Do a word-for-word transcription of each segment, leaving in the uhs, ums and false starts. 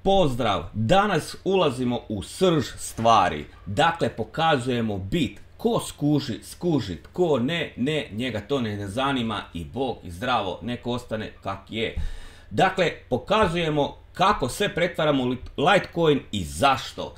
pozdrav! Danas ulazimo u srž stvari. Dakle, pokazujemo bit. Ko skuži, skuži. Ko ne, ne, njega to ne zanima i Bog i zdravo, neko ostane kak je. Dakle, pokazujemo kako sve pretvaramo u Litecoin i zašto.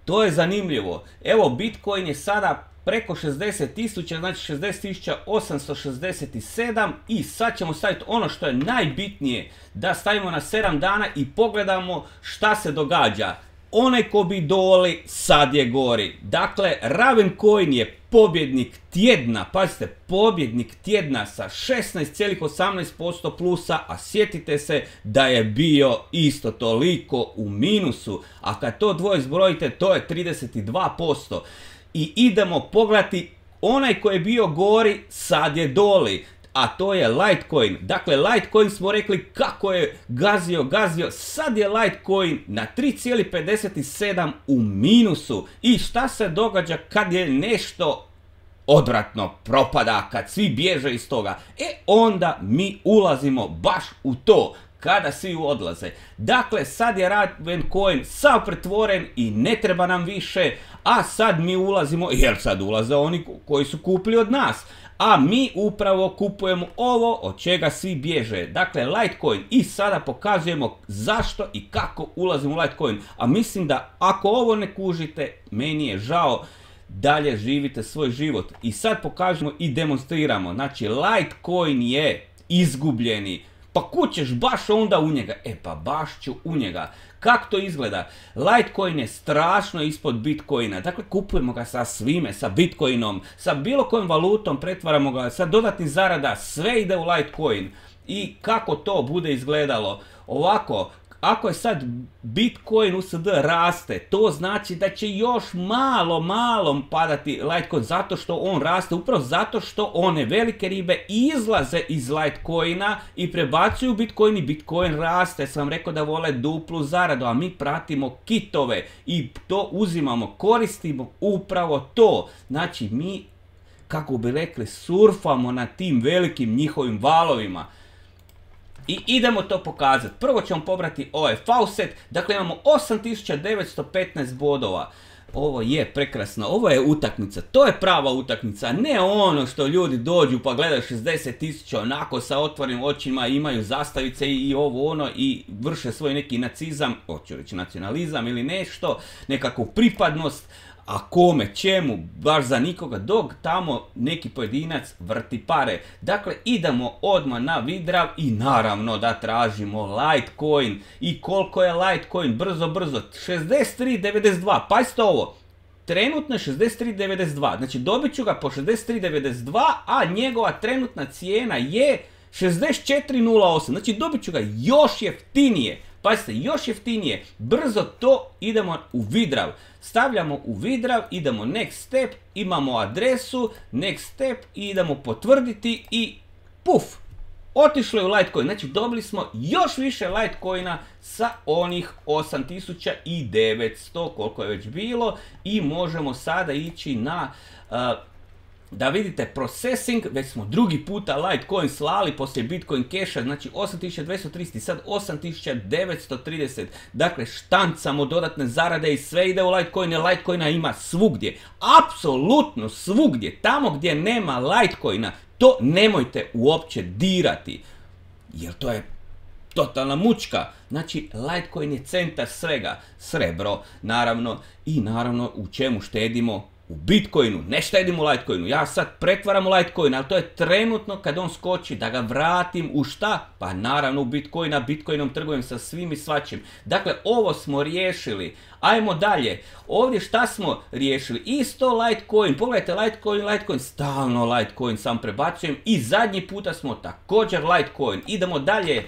To je zanimljivo. Evo, Bitcoin je sada preko šezdeset tisuća, znači šezdeset tisuća osamsto šezdeset sedam i sad ćemo staviti ono što je najbitnije, da stavimo na sedam dana i pogledamo šta se događa. Onaj ko bi doli, sad je gori. Dakle, Ravencoin je pobjednik tjedna, pazite, pobjednik tjedna sa šesnaest zarez osamnaest posto plusa, a sjetite se da je bio isto toliko u minusu, a kad to dvoje zbrojite, to je trideset dva posto. I idemo pogledati, onaj koji je bio gori, sad je doli. A to je Litecoin. Dakle, Litecoin smo rekli kako je gazio, gazio. Sad je Litecoin na tri zarez pedeset sedam u minusu. I šta se događa kad je nešto odvratno propada, kad svi bježe iz toga? E, onda mi ulazimo baš u to. Kada svi odlaze. Dakle, sad je Ravencoin sav pretvoren i ne treba nam više, a sad mi ulazimo, jer sad ulaze oni koji su kupili od nas. A mi upravo kupujemo ovo od čega svi bježe. Dakle, Litecoin. I sada pokazujemo zašto i kako ulazimo u Litecoin. A mislim da ako ovo ne kužite, meni je žao, dalje živite svoj život. I sad pokažemo i demonstriramo. Znači, Litecoin je izgubljeni. Pa kućeš baš onda u njega. E pa baš ću u njega. Kako to izgleda? Litecoin je strašno ispod Bitcoina. Dakle, kupujemo ga sa svime, sa Bitcoinom, sa bilo kojom valutom, pretvaramo ga, sa dodatnih zarada, sve ide u Litecoin. I kako to bude izgledalo? Ovako, ako je sad Bitcoin U S D raste, to znači da će još malo, malo padati Litecoin, zato što on raste, upravo zato što one velike ribe izlaze iz Litecoina i prebacuju Bitcoin i Bitcoin raste. Sam rekao da vole duplu zaradu, a mi pratimo kitove i to uzimamo, koristimo upravo to. Znači mi, kako bi rekli, surfamo na tim velikim njihovim valovima. I idemo to pokazati. Prvo ćemo pobrati ovaj faucet. Dakle, imamo osam tisuća devetsto petnaest bodova. Ovo je prekrasno. Ovo je utakmica. To je prava utakmica. Ne ono što ljudi dođu pa gledaju šezdeset tisuća onako sa otvorenim očima, imaju zastavice i ovo ono i vrše svoj neki nacizam, hoću reći nacionalizam ili nešto, nekakvu pripadnost. A kome, čemu, baš za nikoga, dok tamo neki pojedinac vrti pare. Dakle, idemo odmah na Vidrav i naravno da tražimo Litecoin. I koliko je Litecoin? Brzo, brzo. šezdeset tri zarez devedeset dva. Pazite ovo. Trenutno je šezdeset tri zarez devedeset dva. Znači, dobit ću ga po šezdeset tri zarez devedeset dva, a njegova trenutna cijena je šezdeset četiri zarez nula osam. Znači, dobit ću ga još jeftinije. Pazite, još jeftinije, brzo to idemo u Vidrav. Stavljamo u Vidrav, idemo next step, imamo adresu, next step i idemo potvrditi i puf, otišlo je u Litecoin. Znači dobili smo još više Litecoina sa onih osam tisuća devetsto koliko je već bilo i možemo sada ići na... Uh, da vidite processing, već smo drugi puta Litecoin slali poslije Bitcoin Casha, znači osam tisuća dvjesto trideset i sad osam tisuća devetsto trideset. Dakle, štancamo dodatne zarade i sve ide u Litecoin, jer Litecoina ima svugdje. Apsolutno svugdje. Tamo gdje nema Litecoina, to nemojte uopće dirati. Jer to je totalna mučka. Znači, Litecoin je centar svega. Srebro, naravno, i naravno u čemu štedimo? U Bitcoinu, ne štedimo u Litecoinu, ja sad pretvaram u Litecoin, ali to je trenutno kad on skoči, da ga vratim u šta? Pa naravno u Bitcoina, Bitcoinom trgujem sa svim i svačim. Dakle, ovo smo riješili. Ajmo dalje. Ovdje šta smo riješili? Isto Litecoin. Pogledajte, Litecoin, Litecoin, stalno Litecoin sam prebacujem. I zadnji puta smo također Litecoin. Idemo dalje.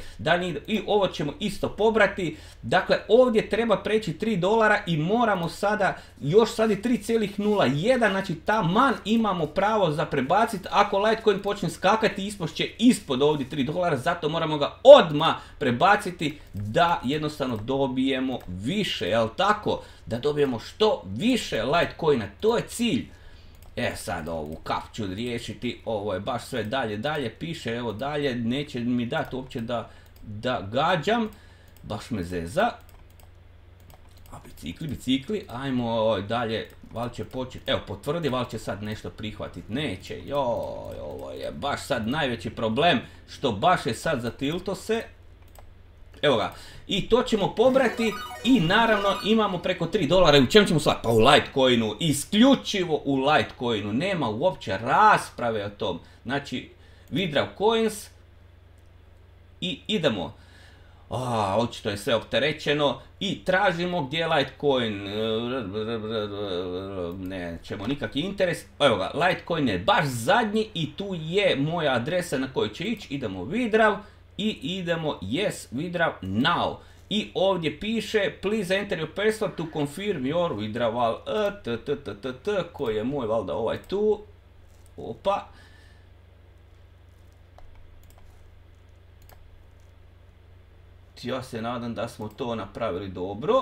I ovo ćemo isto pobrati. Dakle, ovdje treba preći tri dolara i moramo sada, još sad je tri zarez nula jedan. Znači, taman imamo pravo za prebaciti. Ako Litecoin počne skakati, ispošće ispod ovdje tri dolara. Zato moramo ga odmah prebaciti da jednostavno dobijemo više. Jel tako? Da dobijemo što više Litecoina, to je cilj. E sad ovu kap ću riješiti, ovo je baš sve dalje, dalje piše, evo dalje, neće mi dati uopće da, da gađam, baš me zeza. A bicikli, bicikli, ajmo dalje, val će početi, evo potvrdi, val će sad nešto prihvatiti, neće, joj, ovo je baš sad najveći problem, što baš je sad zatilto se, evo ga, i to ćemo pobrati i naravno imamo preko tri dolara, u čem ćemo sad? Pa u Litecoinu, isključivo u Litecoinu, nema uopće rasprave o tom, znači withdraw coins i idemo. A, očito je sve opterećeno i tražimo gdje je Litecoin, nećemo nikakvi interes, evo ga, Litecoin je baš zadnji i tu je moja adresa na kojoj će ići, idemo withdraw i idemo yes, withdraw now. I ovdje piše, please enter your password to confirm your withdrawal, koji je moj, valjda ovaj tu, opa. Ja se nadam da smo to napravili dobro.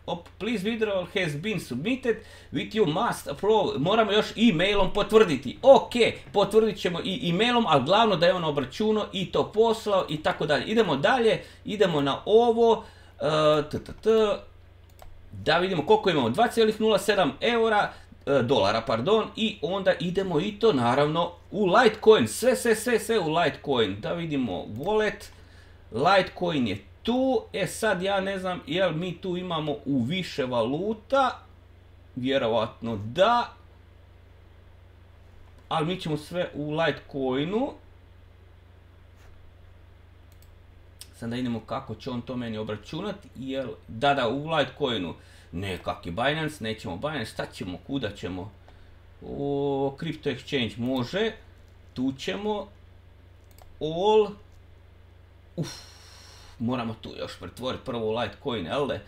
Op, please withdrawal has been submitted with you must approve. Moramo još e-mailom potvrditi. Ok, potvrdit ćemo i e-mailom, ali glavno da je on obračunao i to poslao i tako dalje. Idemo dalje, idemo na ovo. Uh, t, t, t, da vidimo koliko imamo, dva zarez nula sedam eura, uh, dolara, pardon, i onda idemo i to naravno u Litecoin, sve, sve, sve, sve u Litecoin. Da vidimo wallet. Litecoin je tu, e sad ja ne znam jel mi tu imamo u više valuta, vjerovatno da, ali mi ćemo sve u Litecoinu. Sad da idemo kako će on to meni obračunati, jel, da da u Litecoinu, ne kaki Binance, nećemo Binance, šta ćemo, kuda ćemo, o, Crypto Exchange može, tu ćemo, all, uff, moramo tu još pretvoriti prvo u Litecoin, jel de?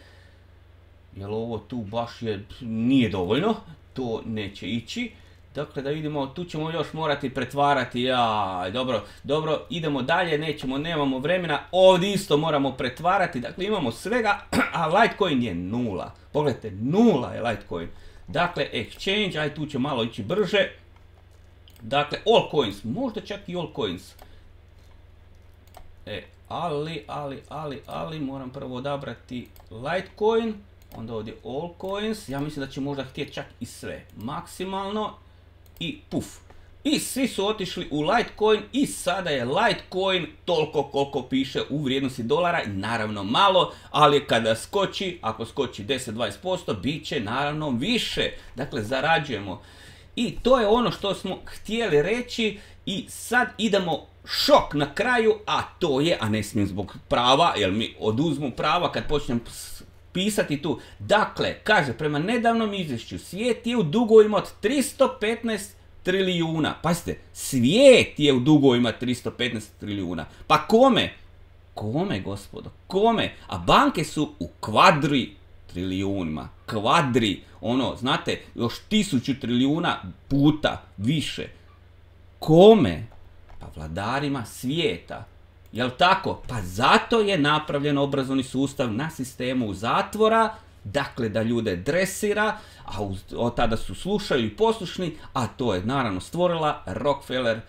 Jer ovo tu baš je, nije dovoljno, to neće ići. Dakle, da vidimo, tu ćemo još morati pretvarati, jaj, dobro, dobro, idemo dalje, nećemo, nemamo vremena, ovdje isto moramo pretvarati, dakle imamo svega, a Litecoin je nula. Pogledajte, nula je Litecoin. Dakle, exchange, aj tu će malo ići brže. Dakle, all coins, možda čak i all coins. E, ali, ali, ali, ali, moram prvo odabrati Litecoin, onda ovdje all coins, ja mislim da će možda htjeti čak i sve, maksimalno, i puf. I svi su otišli u Litecoin i sada je Litecoin toliko koliko piše u vrijednosti dolara, i naravno malo, ali kada skoči, ako skoči deset do dvadeset posto, bit će naravno više, dakle zarađujemo. I to je ono što smo htjeli reći i sad idemo šok na kraju, a to je, a ne smijem zbog prava, jer mi oduzmu prava kad počnem pisati tu. Dakle, kaže, prema nedavnom izvješću, svijet je u dugovima od tristo petnaest trilijuna. Pazite, svijet je u dugovima tristo petnaest trilijuna. Pa kome? Kome, gospodo? Kome? A banke su u kvadri trilijunima. Kvadri. Ono, znate, još tisuću trilijuna puta više. Kome? Pa vladarima svijeta. Jel tako? Pa zato je napravljen obrazovni sustav na sistemu zatvora, dakle da ljude dresira, a uz, od tada su slušaju i poslušni, a to je naravno stvorila Rockefeller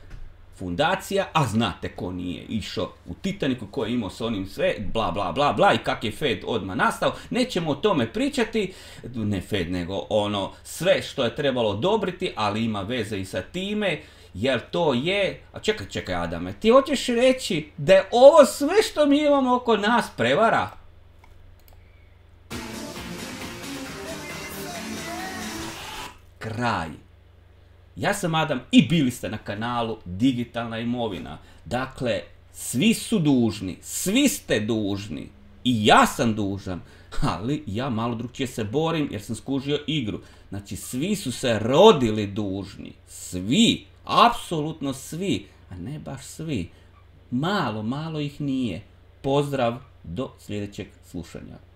fundacija, a znate ko nije išao u Titaniku, ko je imao s onim sve, bla bla bla bla, i kak je Fed odmah nastao, nećemo o tome pričati, ne Fed nego ono sve što je trebalo odobriti, ali ima veze i sa time, jer to je, a čekaj, čekaj Adame, ti hoćeš reći da je ovo sve što mi imamo oko nas prevara? Kraj. Ja sam Adam i bili ste na kanalu Digitalna imovina. Dakle, svi su dužni, svi ste dužni i ja sam dužan, ali ja malo drugčije se borim jer sam skužio igru. Znači, svi su se rodili dužni, svi, apsolutno svi, a ne baš svi. Malo, malo ih nije. Pozdrav, do sljedećeg slušanja.